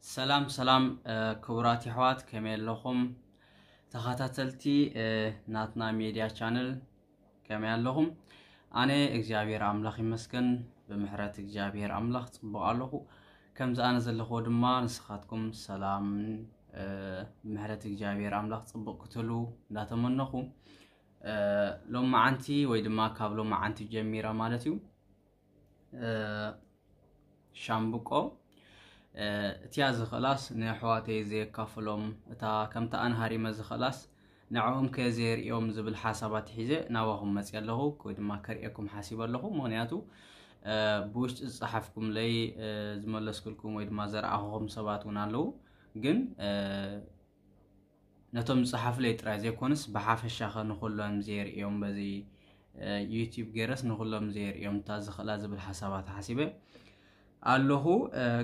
ሰላም ሰላም ክቡራት የሕዋት፣ ከመይ ኣለኹም? ተኸታተልቲ ናትና ሜድያ ቻነል ከመይ ኣለኹም? ኣነ እግዚኣብሔር ኣምላኽ ይመስገን፣ ብምሕረት እግዚኣብሔር ኣምላኽ ጽቡቕ ኣለኹ። ከምዚ ኣነ ዘለኹዎ ድማ ንስኻትኩም ሰላምን ምሕረት እግዚኣብሔር ኣምላኽ ጽቡቕ ክትህሉ እንዳተመነኹ፣ ሎም መዓንቲ ወይ ድማ ካብ ሎም መዓንቲ ጀሚረ ማለት እዩ፣ ሻምብቆ እቲያ ዝኽእላስ ንኣሕዋተይ ዘየካፍሎም፣ እታ ከምታ ኣነ ሃሪመ ዝኽእላስ ንዕኦም ከየዘየርእዮም ዝብል ሓሳባት ሒዘ ናባኹም መፅየ ኣለኹ፣ ወይ ድማ ከርእየኩም ሓሲበ ኣለኹ። ምኽንያቱ ብውሽጢ ዝፀሓፍኩምለይ ዝመለስኩልኩም ወይ ድማ ዘረኣኹኹም ሰባት እውን ኣለዉ። ግን ነቶም ዝፀሓፉለይ ጥራይ ዘይኮነስ ብሓፈሻ ኸ ንኹሎም ዘየርእዮም፣ በዚ ዩቲዩብ ገይረስ ንኹሎም ዘየርእዮም እታ ዝኽእላ ዝብል ሓሳባት ሓሲበ ኣለኹ።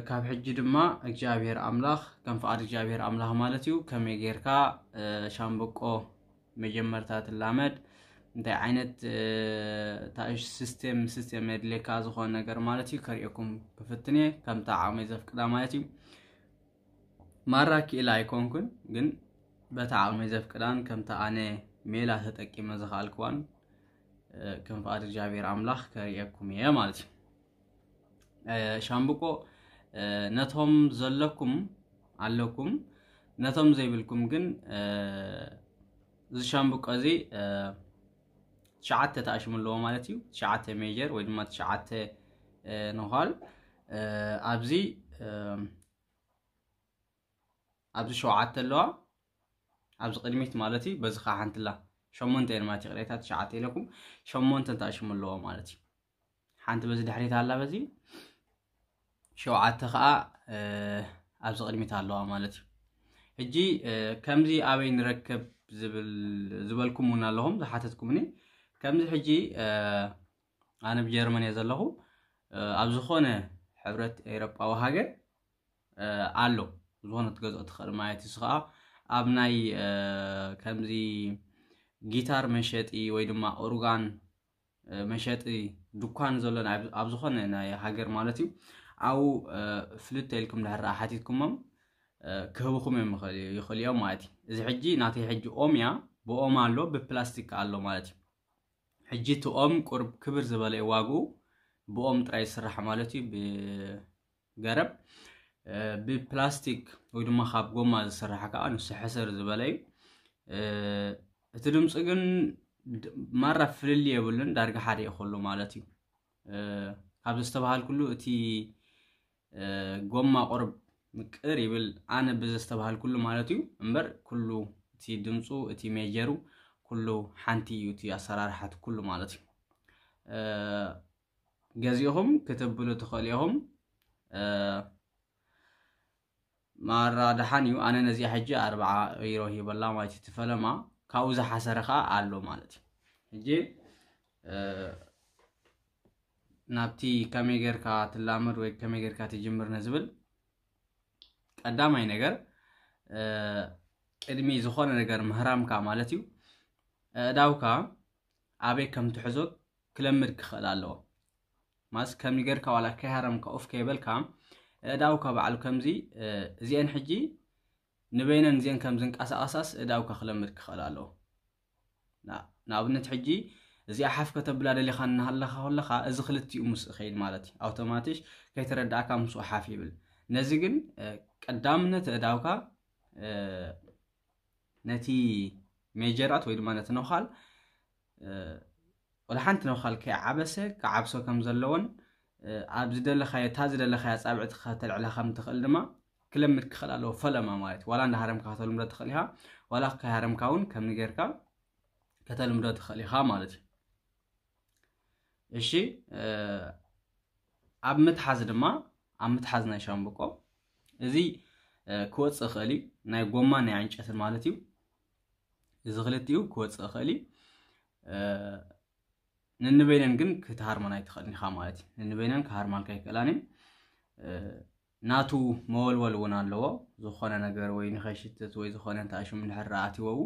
ካብ ሕጂ ድማ እግዚኣብሔር ኣምላኽ፣ ከም ፍቓድ እግዚኣብሔር ኣምላኽ ማለት እዩ፣ ከመይ ጌርካ ሻምብቆ መጀመርታ ትላመድ፣ እንታይ ዓይነት ታሽ ሲስቴም ሲስቴም የድልየካ ዝኾነ ነገር ማለት እዩ ከርእየኩም ክፍትን እየ፣ ከምታ ዓቕመይ ዘፍቅዳ ማለት እዩ። ማራ ክኢላ ኣይኮንኩን፣ ግን በታ ዓቕመይ ዘፍቅዳን ከምታ ኣነ ሜላ ተጠቂመ ዝኸኣልክዋን ከም ፍቓድ እግዚኣብሔር ኣምላኽ ከርእየኩም እየ ማለት እዩ። ሻምብቆ ነቶም ዘለኩም ኣለኩም፣ ነቶም ዘይብልኩም ግን እዚ ሻምብቆ እዚ ትሽዓተ ተኣሽሙ ኣለዎ ማለት እዩ። ትሽዓተ ሜጀር ወይ ድማ ትሽዓተ ነዃል ኣብዚ ኣብዚ ሸውዓተ ኣለዋ፣ ኣብዚ ቅድሚት ማለት እዩ። በዚ ከዓ ሓንቲ ኣላ፣ ሸሞንተ እየን ማለት እዩ። ቅሬታ ትሽዓተ ኢለኩም ሸሞንተ ተኣሽሙ ኣለዎ ማለት እዩ። ሓንቲ በዚ ድሕሪት ኣላ፣ በዚ ሸውዓተ ከዓ ኣብዚ ቅድሚት ኣለዋ ማለት እዩ። ሕጂ ከምዚ ኣበይ ንረክብ ዝበልኩም እውን ኣለኹም ዝሓተትኩምኒ። ከምዚ ሕጂ ኣነ ብጀርመን እየ ዘለኹ፣ ኣብ ዝኾነ ሕብረት ኤሮጳዊ ሃገር ኣሎ፣ ዝኾነ ትገዝኦ ትኽእል ማለት እዩ። ከዓ ኣብ ናይ ከምዚ ጊታር መሸጢ ወይ ድማ ኦርጋን መሸጢ ድኳን ዘሎ ኣብ ዝኾነ ናይ ሃገር ማለት እዩ። ኣብኡ ፍልጥ ኢልኩም ድሕር ሓቲትኩሞም ክህብኹም እዮም ይኽእል እዮም ማለት እዩ። እዚ ሕጂ ናተይ ሕጂ ኦም እያ፣ ብኦም ኣሎ፣ ብፕላስቲክ ኣሎ ማለት እዩ። ሕጂ እቲ ኦም ቁርብ ክብር ዝበለ እዩ ዋግኡ፣ ብኦም ጥራይ ይስራሕ ማለት እዩ። ገረብ ብፕላስቲክ ወይ ድማ ካብ ጎማ ዝስራሕ ከዓ ንሱ ሕስር ዝበለ እዩ። እቲ ድምፂ ግን ማራ ፍልልይ የብሉን፣ ዳርጋ ሓደ እዩ ከሎ ማለት እዩ። ካብ ዘስተባሃልኩሉ እቲ ጎማ ቁርብ ምቅር ይብል፣ ኣነ ብዘስተባሃልኩሉ ማለት እዩ። እምበር ኩሉ እቲ ድምፁ፣ እቲ ሜጀሩ ኩሉ ሓንቲ እዩ፣ እቲ ኣሰራርሓት ኩሉ ማለት እዩ። ገዚእኹም ክትብሉ ትኽእሉ ኢኹም። ማራ ደሓን እዩ። ኣነ ነዚኣ ሕጂ ኣርብዓ ዩሮ ሂበላ ማለት እዩ፣ ትፈለማ ካብኡ ዝሓሰረ ከዓ ኣሎ ማለት እዩ። ሕጂ ናብቲ ከመይ ጌርካ ትላመድ ወይ ከመይ ጌርካ ትጅምር ንዝብል ቀዳማይ ነገር ቅድሚ ዝኾነ ነገር ምህራምካ ማለት እዩ፣ ኣእዳውካ ኣበይ ከም ትሕዞ ክለምድ ክኽእል ኣለዎ። ማስ ከም ጌርካ ዋላ ከይሃረምካ ኡፍ ከይበልካ ኣእዳውካ ባዕሉ ከምዚ እዚአን ሕጂ ንበይነን እዚአን ከም ዝንቀሳቐሳስ ኣእዳውካ ክለምድ ክኽእል ኣለዎ። ንኣብነት ሕጂ እዚኣ ሓፍ ከተብላ ደሊኻ እናሃለኻ ከለኻ እዚ ክልቲኡ ምስ እኸይድ ማለት እዩ። ኣውቶማቲሽ ከይተረዳእካ ምስኡ ሓፍ ይብል። ነዚ ግን ቀዳምነት ኣእዳውካ ነቲ ሜጀራት ወይ ድማ ነቲ ነዃል ወላ ሓንቲ ነዃል ከይዓበሰ ክዓብሶ ከም ዘለዎን ኣብ ዝደለኻዮ እታ ዝደለኻዮ ኣጻብዕቲ ከተልዕላ ከም ትኽእል ድማ ክለምድ ክኽእል ኣለዎ። ፈለማ ማለት ዋላ እንዳሃረምካ ከተልምዶ ትኽእል ኢኻ፣ ዋላ ከይሃረምካ እውን ከም ንጌርካ ከተልምዶ ትኽእል ኢኻ ማለት እዩ። እሺ ኣብ ምትሓዝ ድማ ኣብ ምትሓዝ ናይ ሻምብቆ እዚ ክወፅእ ይኽእል እዩ፣ ናይ ጎማን ናይ ዕንጨትን ማለት እዩ። እዚ ክልቲኡ ክወፅእ ይኽእል እዩ። ነንበይነን ግን ክትሃርመን ኣይትኽእልን ኢኻ ማለት እዩ። ነንበይነን ክሃርማልካ ኣይክእላን እየን። ናቱ መወልወል እውን ኣለዎ። ዝኾነ ነገር ወይ ንኸይሽትት ወይ ዝኾነ እንታይ ሽሙ እንድሕር ኣቲወው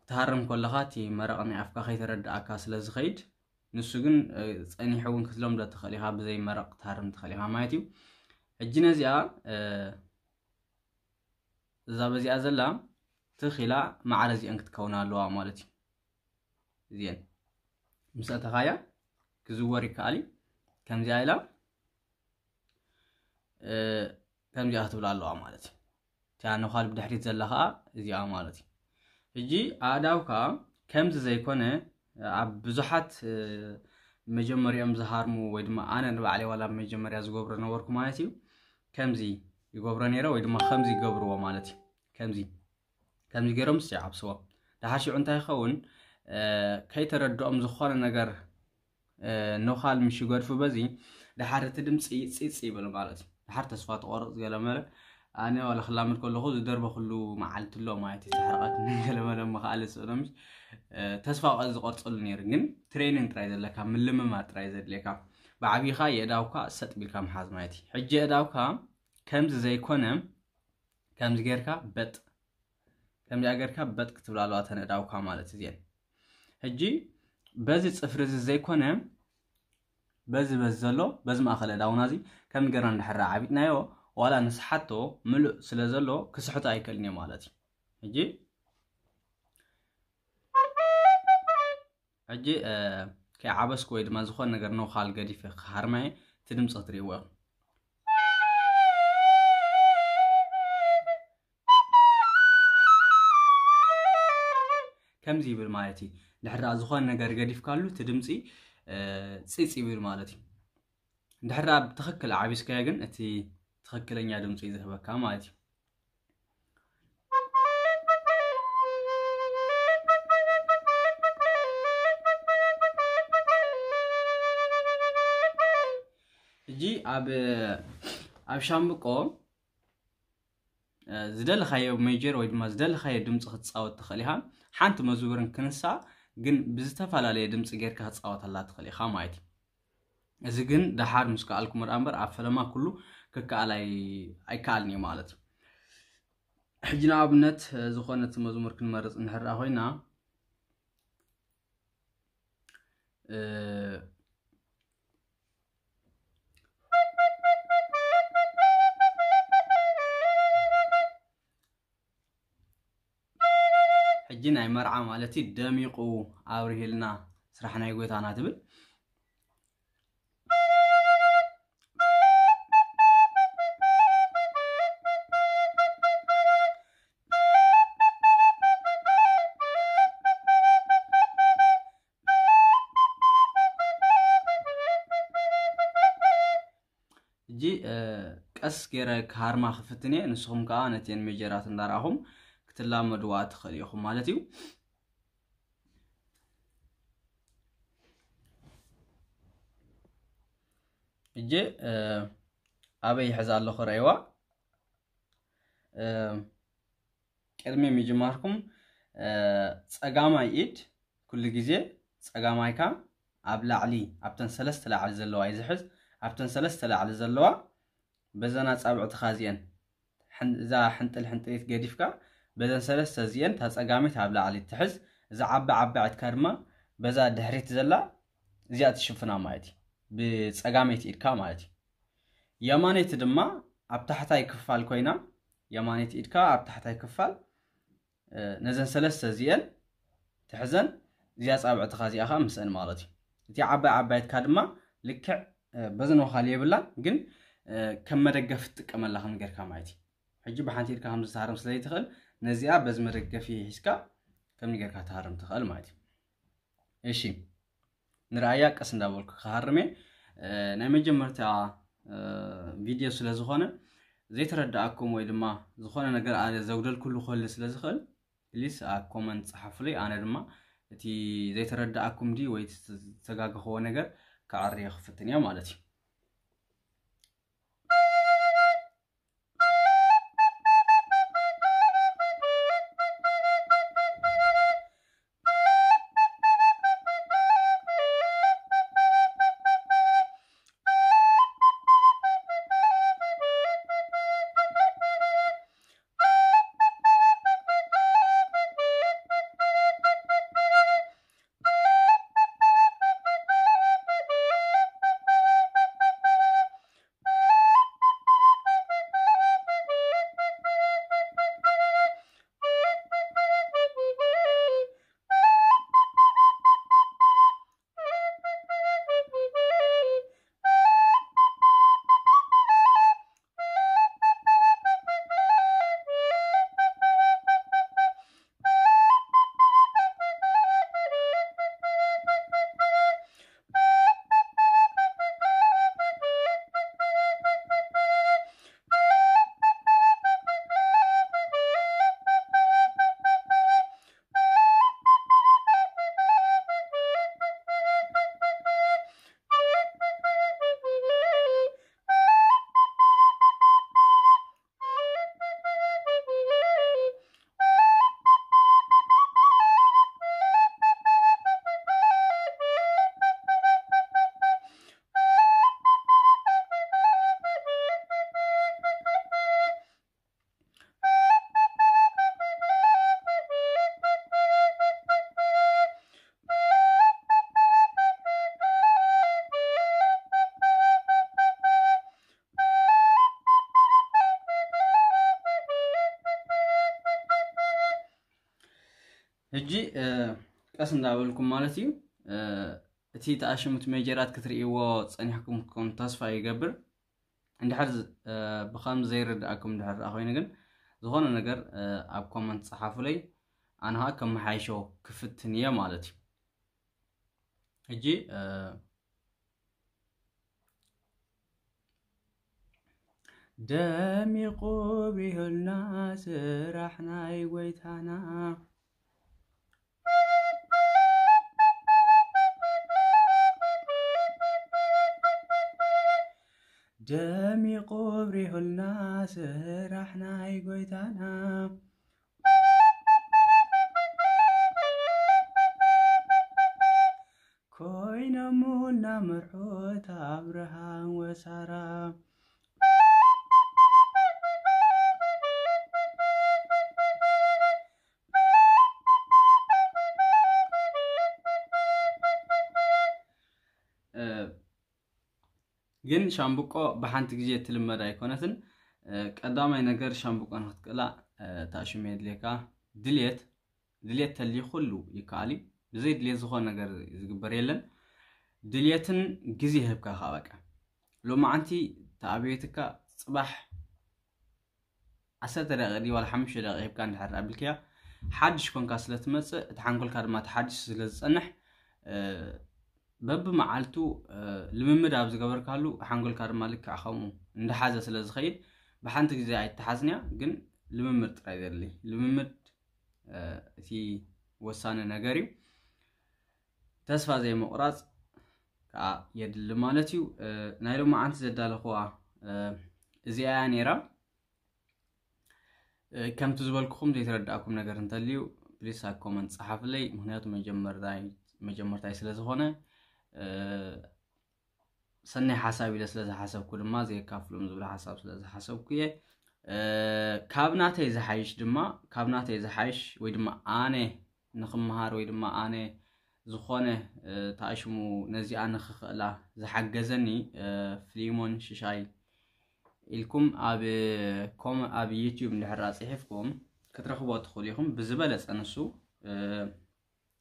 ክትሃርም ከለኻ እቲ መረቕ ናይ ኣፍካ ከይተረድኣካ ስለ ዝኸይድ ንሱ ግን ጸኒሑ እውን ክትለምዶ ትኽእል ኢኻ፣ ብዘይ መረቕ ክትሃርም ትኽእል ኢኻ ማለት እዩ። ሕጂ ነዚኣ እዛ በዚኣ ዘላ ትኺላ ማዕረ እዚአን ክትከውና ኣለዋ ማለት እዩ። እዚአን ምስ ኣተኻያ ክዝወር ይከኣል እዩ። ከምዚኣ ኢላ ከምዚኣ ክትብላ ኣለዋ ማለት እዩ። እቲኣ ነዃል ብድሕሪት ዘላ ከዓ እዚኣ ማለት እዩ። ሕጂ ኣእዳውካ ከምዚ ዘይኮነ ኣብ ብዙሓት መጀመሪኦም ዝሃርሙ ወይ ድማ ኣነ ንባዕለይ ዋላ መጀመርያ ዝገብሮ ነበርኩ ማለት እዩ። ከምዚ ይገብሮ ነይረ ወይ ድማ ከምዚ ይገብርዎ ማለት እዩ። ከምዚ ከምዚ ገይሮም ስ ይዓብስዎ። ደሓር ሽዑ እንታይ ይኸውን? ከይተረድኦም ዝኾነ ነገር ነዃል ምሽ ይገድፉ በዚ ደሓር እቲ ድምፂ ፂፅ ይብል ማለት እዩ። ደሓር ተስፋ ትቆርፅ ገለመለ ኣነ ዋላ ክላመድ ከለኹ ዝደርበ ኩሉ መዓልቲ ኣሎ ማለት እዩ። ተሕረቐት ገለመለ ምኽኣል ዝስእኖምሽ ተስፋ ዝቆርፀሉ ነይሩ። ግን ትሬኒንግ ጥራይ ዘለካ ምልምማድ ጥራይ ዘድልየካ። ብዓብይኻ የእዳውካ ሰጥ ቢልካ ምሓዝ ማለት እዩ። ሕጂ የእዳውካ ከምዚ ዘይኮነ ከምዚ ጌርካ በጥ ከምዚኣ ጌርካ በጥ ክትብላ ኣለዋ ተን እዳውካ ማለት እዚአን። ሕጂ በዚ ፅፍሪ እዚ ዘይኮነ በዚ በዚ ዘሎ በዚ ማእኸል እዳውና እዚ ከም ገርና እንድሕር ዓቢጥናዮ ዋላ ንስሓቶ ምሉእ ስለ ዘሎ ክስሕቶ ኣይክእልን እየ ማለት እዩ። ሕጂ ሕጂ ከይዓበስኩ ወይ ድማ ዝኾነ ነገር ነዃል ገዲፈ ክሃርማየ እቲ ድምፂ ክትርእይዎ ኢኹም። ከምዚ ይብል ማለት እዩ። ድሕር ዝኾነ ነገር ገዲፍካሉ እቲ ድምፂ ፅፅ ይብል ማለት እዩ። ድሕር ኣብ ትኽክል ዓቢስካዮ ግን እቲ ትኽክለኛ ድምፂ እዩ ዝህበካ ማለት እዩ። ሕጂ ኣብ ኣብ ሻምብቆ ዝደለኻዮ ሜጀር ወይ ድማ ዝደለኻዮ ድምፂ ክትፃወት ትኽእል ኢኻ። ሓንቲ መዝሙርን ክንሳ ግን ብዝተፈላለየ ድምፂ ጌርካ ክትፃወተላ ትኽእል ኢኻ ማለት እዩ። እዚ ግን ደሓር ምስ ከኣልኩ ምርኣ እምበር ኣብ ፈለማ ኩሉ ክከኣል ኣይከኣልን እዩ ማለት እዩ። ሕጂ ንኣብነት ዝኾነት መዝሙር ክንመርፅ እንሕርኣ ኮይና ሕጂ ናይ መርዓ ማለት እዩ ደሚቑ ኣብርሂልና ስራሕ ናይ ጎይታና ትብል። ሕጂ ቀስ ገይረ ክሃርማ ክፍትን እየ። ንስኹም ከዓ ነቲአን ሜጀራት እንዳረኣኹም ክትላመድዋ ትኽእል ኢኹም ማለት እዩ። እጀ ኣበይ ይሕዝ ኣለኹ ረእይዋ። ቅድሚ ምጅማርኩም ጸጋማይ ኢድ ኩሉ ግዜ ጸጋማይካ ኣብ ላዕሊ ኣብተን ሰለስተ ላዕሊ ዘለዋ እዩ ዝሕዝ። ኣብተን ሰለስተ ላዕሊ ዘለዋ በዘን ኣጻብዕትኻ እዚአን እዛ ሕንጥል ሕንጥሊት ገዲፍካ በዘን ሰለስተ እዚአን እታ ጸጋሚት ኣብ ላዕሊ ትሕዝ። እዛ ዓቢ ዓባዒትካ ድማ በዛ ድሕሪት ዘላ እዚኣ ትሽፍና ማለት እዩ። ብጸጋመይቲ ኢድካ ማለት እዩ። የማነይቲ ድማ ኣብ ታሕታይ ክፋል ኮይና የማነይቲ ኢድካ ኣብ ታሕታይ ክፋል ነዘን ሰለስተ እዚአን ትሕዘን እዚኣ ጻብዕትኻ እዚኣ ከዓ ምስአን ማለት እዩ። እቲ ዓባይ ዓባይትካ ድማ ልክዕ በዚ ነዃል የብላን ግን ከም መደገፍ ትጥቀመላ ከም ገርካ ማለት እዩ። ሕጂ ብሓንቲ ኢድካ ከም ዝተሃርም ስለ ዘይትኽእል ነዚኣ በዚ መደገፊ ሒዝካ ከም ገርካ ትሃርም ትኽእል ማለት እዩ። እሺ ንረኣያ ቀስ እንዳበልኩ ክሃርም እየ። ናይ መጀመርታ ቪድዮ ስለ ዝኾነ ዘይተረዳኣኩም ወይ ድማ ዝኾነ ነገር ኣነ ዘጉደልኩሉ ክህሉ ስለ ዝኽእል ፕሊስ ኣብ ኮመንት ጸሓፉለይ። ኣነ ድማ እቲ ዘይተረዳኣኩም ድዩ ወይ ዝተጋገኽዎ ነገር ክዓርዮ ክፍትን እየ ማለት እዩ። ሕጂ ቀስ እንዳበልኩም ማለት እዩ። እቲ ተኣሽሙት ሜጀራት ክትርእይዎ ጸኒሕኩም ክትኮኑ ተስፋ ይገብር። እንድሕር ብኸምዚ ዘይርድኣኩም እንድሕር ደኣ ኮይኑ ግን ዝኾነ ነገር ኣብ ኮመንት ጸሓፉለይ። ኣነ ኸኣ ከመሓይሾ ክፍትን እየ ማለት እዩ። ሕጂ ደሚቑ ብሪሁልና ስራሕ ናይ ጎይታና። ደሚቑ ብሪሁልና ስራሕ ናይ ጎይታና። ኮይኖሙና መርሑት ኣብርሃም ወሳራ። ግን ሻምብቆ ብሓንቲ ግዜ እትልመድ ኣይኮነትን። ቀዳማይ ነገር ሻምብቆ ንክትክእላ ተኣሽሙ የድልየካ። ድልየት ድልየት ተልዩ ኩሉ ይከኣል እዩ። ብዘይ ድልየት ዝኾነ ነገር ዝግበር የለን። ድልየትን ግዜ ህብካ ከዓ በቃ ሎማዓንቲ ተኣብየትካ ጽባሕ ዓሰርተ ደቂቕ ድዩ ዋላ ሓሙሽተ ደቂቕ ሂብካ እንድሕር ኣቢልክያ ሓድሽ ኮንካ ስለ ትመጽእ እቲ ሓንጎልካ ድማ ተሓዲሱ ስለ ዝጸንሕ በብመዓልቱ ልምምድ ኣብ ዝገበርካሉ ሓንጎልካ ድማ ልክዕ ከምኡ እንዳሓዘ ስለ ዝኸይድ ብሓንቲ ግዜ ኣይተሓዝንያ። ግን ልምምድ ጥራይ ዘድሊ ልምምድ እቲ ወሳኒ ነገር እዩ። ተስፋ ዘይምቑራጽ ከዓ የድሊ ማለት እዩ። ናይ ሎማዓንቲ ዘዳለኽዋ እዚኣ እያ ነይራ። ከምቲ ዝበልኩኹም ዘይተረዳእኩም ነገር እንተልዩ ፕሊስ ኣብ ኮመንት ጸሓፍለይ። ምክንያቱ መጀመርታይ ስለ ዝኾነ ሰናይ ሓሳብ ኢለ ስለ ዝሓሰብኩ ድማ ዘየካፍሎም ዝብል ሓሳብ ስለ ዝሓሰብኩ እየ። ካብ ናተይ ዝሓይሽ ድማ ካብ ናተይ ዝሓይሽ ወይ ድማ ኣነ ንክምሃር ወይ ድማ ኣነ ዝኾነ ተኣሽሙ ነዚኣ ንክኽእላ ዝሓገዘኒ ፍሊሞን ሽሻይ ኢልኩም ኣብ ኮመ ኣብ ዩቲዩብ እንድሕር ጽሒፍኩም ክትረኽቦ ትኽእሉ ኢኹም። ብዝበለጸ ንሱ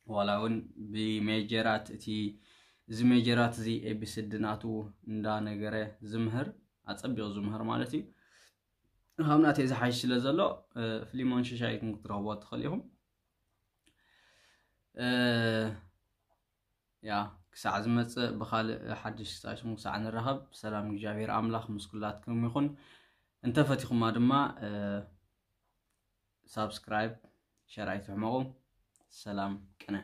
ዋላ እውን ብሜጀራት እቲ እዚ ሜጀራት እዚ ኤቢስዲ ናቱ እንዳነገረ ዝምህር ኣጸቢቑ ዝምህር ማለት እዩ። ካብ ናተይ ዝሓይሽ ስለ ዘሎ ፍሊሞን ሽሻይ ኢልኩም ክትረኽቦ ትኽእሉ ኢኹም። ያ ክሳዕ ዝመጽእ ብኻልእ ሓድሽ ክሳዕ ሽሙ ክሳዕ ንራኸብ ሰላም እግዚኣብሔር ኣምላኽ ምስ ኩላትኩም ይኹን። እንተፈቲኹማ ድማ ሳብስክራይብ ሸር ኣይትሕመቑ። ሰላም ቅነ።